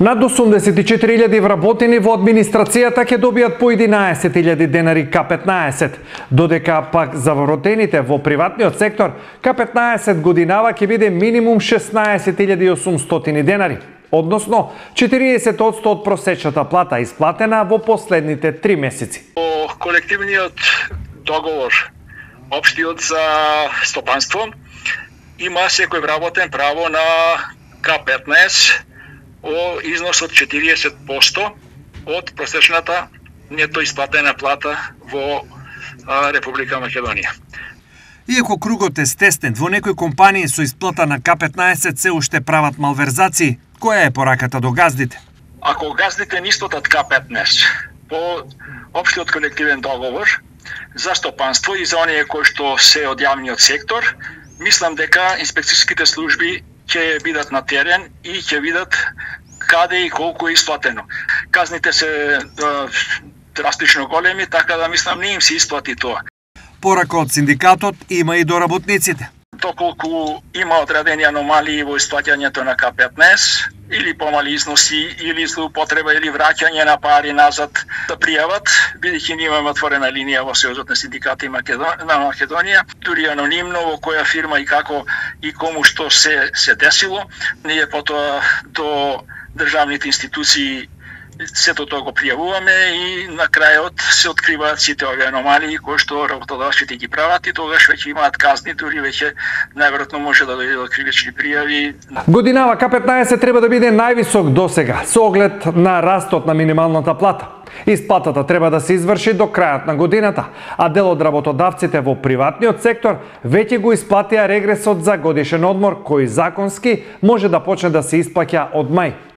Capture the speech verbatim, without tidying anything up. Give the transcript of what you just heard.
Над осумдесет и четири илјади вработени во администрацијата ќе добијат по единаесет илјади денари К петнаесет, додека пак за вработените во приватниот сектор К петнаесет годинава ќе биде минимум шеснаесет илјади и осумстотини денари, односно четириесет одсто од просечната плата исплатена во последните три месеци. По колективниот договор, општиот за стопанство, има секој вработен право на К петнаесет о износ од четириесет одсто од просечната нето исплатена плата во Република Македонија. Иако кругот е стеснет, во некои компании со исплата на К петнаесет се уште прават малверзации. Која е пораката до газдите? Ако газдите не исплатат К петнаесет по општиот колективен договор за стопанство и за оние кои што се од јавниот сектор, мислам дека инспекцијските служби ќе бидат на терен и ќе видат каде и колку е исплатено. Казните се е, драстично големи, така да мислам не им се исплати тоа. Порака од синдикатот има и до работниците. Доколку има одредени аномалии во исплаќањето на К петнаесет, или помали износи, или злоупотреба, или враќање на пари назад да пријават, бидејќи ние имаме отворена линија во Сојузот на синдикати на Македонија, дури анонимно во која фирма и како и кому што се се десило, ние потоа до државните институции сето тоа го пријавуваме и на крајот се откриваат сите овие аномалии кои што работодавците ги прават и тогаш веќе имаат казни, дури веќе најверојатно може да дојде до кривични пријави. Годинава К петнаесет треба да биде највисок досега со оглед на растот на минималната плата. Исплатата треба да се изврши до крајот на годината, а дел од работодавците во приватниот сектор веќе го исплатија регресот за годишен одмор кој законски може да почне да се исплаќа од мај.